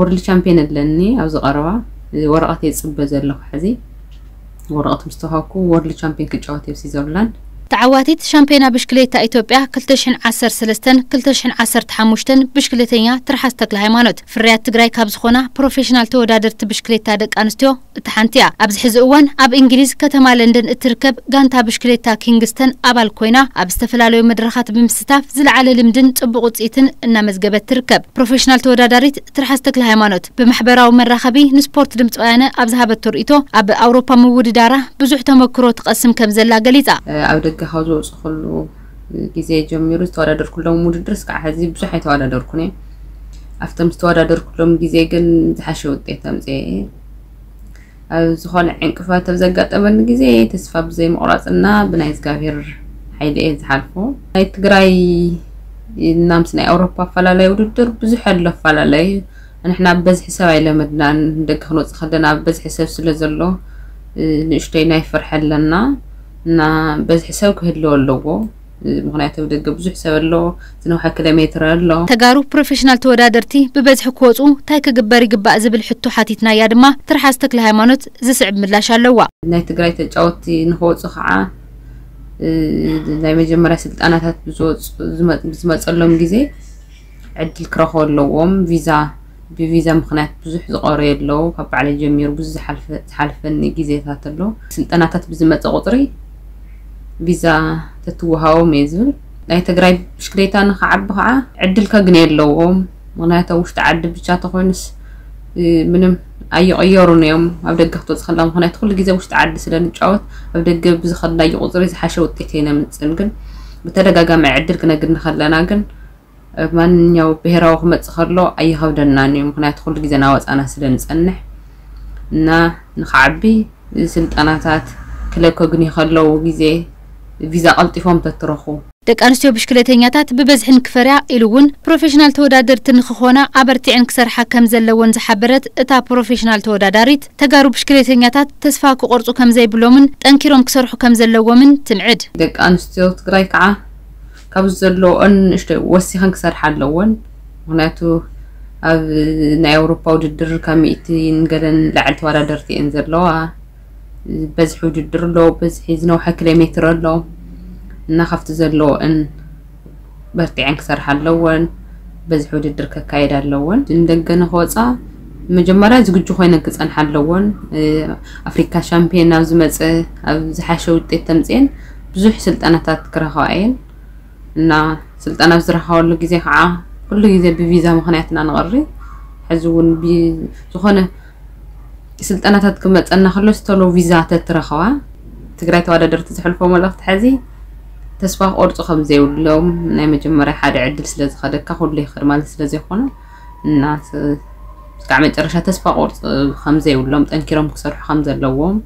ወርልድ ቻምፒዮን ኣለኒ ኣብዚ ቀረባ። ወረቐት የፅበ ዘለኹ ሕዚ። ወረቐት ምስ ተዋሃብኩ ወርልድ ቻምፒዮን ክጫወት እየ ኣብ ስዊዘርላንድ። ተዓዋቲት ሻምፒዮና ብሽክሌታ ኢትዮጵያ ክልተ ሽሕን ዓሰርተ ሰለስተን ክልተ ሽሕን ዓሰርተ ሓሙሽተን ብሽክሌተኛ ትርሓስ ተክለ ሃይማኖት ፍርያት ትግራይ ካብ ዝኾና ፕሮፌሽናል ተወዳደርቲ ብሽክሌታ ደቂ ኣንስትዮ እታ ሓንቲ እያ። ኣብዚ ሕዚ እዋን ኣብ እንግሊዝ ከተማ ለንደን እትርከብ ጋንታ ብሽክሌታ ኪንግስተን ኣባል ኮይና ኣብ ዝተፈላለዩ መድረኻት ብምስታፍ ዝለዓለ ልምድን ፅቡቕ ውፅኢትን እናመዝገበት ትርከብ። ፕሮፌሽናል ተወዳዳሪት ትርሓስ ተክለ ሃይማኖት ብማሕበራዊ መራኸቢ ንስፖርት ድምፂ ወያነ ኣብ ዝሃበቶ ርእይቶ ኣብ ኣውሮፓ ምውድዳራ ብዙሕ ተመክሮ ትቐስም ከም ዘላ ገሊፃ። ኣብ ደገ ካብ ዝወፁ ኩሉ ግዜ ጀሚሩ ዝተወዳደርኩሎም ውድድር እስካዕ ሕዚ ብዙሕ ኣይተወዳደርኩን እየ። ኣብቶም ዝተወዳደርኩሎም ግዜ ግን ዝሓሸ ውጤት ኣምፅኤ እየ። ኣብ ዝኾነ ዕንቅፋት ኣብ ዘጋጠመኒ ግዜ ተስፋ ብዘይ ምቑራፅና ብናይ እግዚኣብሔር ሓይሊ እየ ዝሓልፎ። ናይ ትግራይ እና ምስ ናይ ኣውሮፓ ኣፈላለይ ውድድር ብዙሕ ኣሎ ኣፈላለይ። ንሕና ብበዝሒ ሰብ ኣይለመድናን፣ ደገ ክንወፅእ ከለና ብበዝሒ ሰብ ስለ ዘሎ ንእሽተይ ናይ ፍርሒ ኣለና እና በዝሒ ሰብ ክህልዎ ኣለዎ። ምክንያቱ ኣብ ደገ ብዙሕ ሰብ ኣሎ፣ ዝነውሐ ኪሎ ሜትር ኣሎ። ተጋሩ ፕሮፌሽናል ተወዳደርቲ ብበዝሒ ክወፁ እንታይ ክግበር ይግባእ ዝብል ሕቶ ሓቲትናያ ድማ ትርሓስ ተክለ ሃይማኖት ዝስዕብ ምላሽ ኣለዋ። ናይ ትግራይ ተጫወቲ ንክወፁ ከዓ ናይ መጀመርያ ስልጠናታት ብዝመፀሎም ግዜ ዕድል ክረክቡ ኣለዎም። ቪዛ ብቪዛ ምክንያት ብዙሕ ዝቆረዩ ኣለዉ። ካብ ባዕለይ ጀሚሩ ብዙ ዝሓልፈኒ ግዜታት ኣሎ። ስልጠናታት ብዝመፀ ቁፅሪ ቪዛ ተትወሃቦም እየ ዝብል። ናይ ትግራይ ብሽክሌታ ንክዓቢ ከዓ ዕድል ከግንዩ ኣለዎም። ምክንያቱ ኣብ ውሽጢ ዓዲ ብቻ ተኮይኑስ ምንም ኣይቕየሩን እዮም። ኣብ ደገ ክትወፅ ከላ ምክንያቱ ኩሉ ግዜ ውሽጢ ዓዲ ስለ ንጫወት ኣብ ደገ ብዝኸድናዮ ቁፅሪ ዝሓሸ ውጤት እየ ነምፅን። ግን ብተደጋጋሚ ዕድል ክነግኒ ከለና ግን ማንኛው ብሄራዊ ክመፅእ ከሎ ኣይኸብደናን እዩ። ምክንያቱ ኩሉ ግዜ ናወፃና ስለ ንፀንሕ እና ንክዓቢ ስልጠናታት ክለብ ከግንዩ ከለዉ ግዜ ቪዛ ቀልጢፎም ተትረኹ። ደቂ ኣንስትዮ ብሽክሌተኛታት ብበዝሒ ንክፈርያ ኢሉ እውን ፕሮፌሽናል ተወዳደርቲ ንክኾና ኣበርቲዐን ክሰርሓ ከም ዘለወን ዝሓበረት እታ ፕሮፌሽናል ተወዳዳሪት ተጋሩ ብሽክሌተኛታት ተስፋ ክቆርፁ ከም ዘይብሎምን ጠንኪሮም ክሰርሑ ከም ዘለዎምን ትምዕድ። ደቂ ኣንስትዮ ትግራይ ከዓ ካብ ዘለዎን ንእሽተይ ወሲኸን ክሰርሓ ኣለዎን። ምክንያቱ ኣብ ናይ ኣውሮፓ ውድድር ካብ ሚእቲ ንገለን ላዕሊ ተወዳደርቲ እየን ዘለዋ። በዝሒ ውድድር ኣሎ፣ በዝሒ ዝነውሐ ኪሎ ሜትር ኣሎ እና ካብቲ ዘለዎን በርቲዐን ክሰርሓ ኣለዎን። በዝሒ ውድድር ከካየዳ ኣለዎን። ንደገ ንክወፃ መጀመርያ ዝግጁ ኮይነን ክፀንሓ ኣለዎን። ኣፍሪካ ሻምፒዮን ናብ ዝመፀ ኣብ ዝሓሸ ውጤት ተምፅኤን ብዙሕ ስልጠናታት ክረኸባ እየን እና ስልጠና ኣብ ዝረኸባሉ ግዜ ከዓ ኩሉ ግዜ ብቪዛ ምክንያት ኢና ንቐሪ። ሕዚ እውን ዝኾነ ስልጠናታት ክመፀና ከሎ ዝተሎ ቪዛ ተትረኸባ ትግራይ ተወዳደርቲ ዝሕልፎ መልእክቲ ሕዚ ተስፋ ክቆርፁ ከም ዘይብሎም ናይ መጀመርያ ሓደ ዕድል ስለ ዝኸደካ ኩሉ ይኸድ ማለት ስለ ዘይኮነ እና እስካዕ መጨረሻ ተስፋ ቆርፅ ከም ዘይብሎም ጠንኪሮም ክሰርሑ ከም ዘለዎም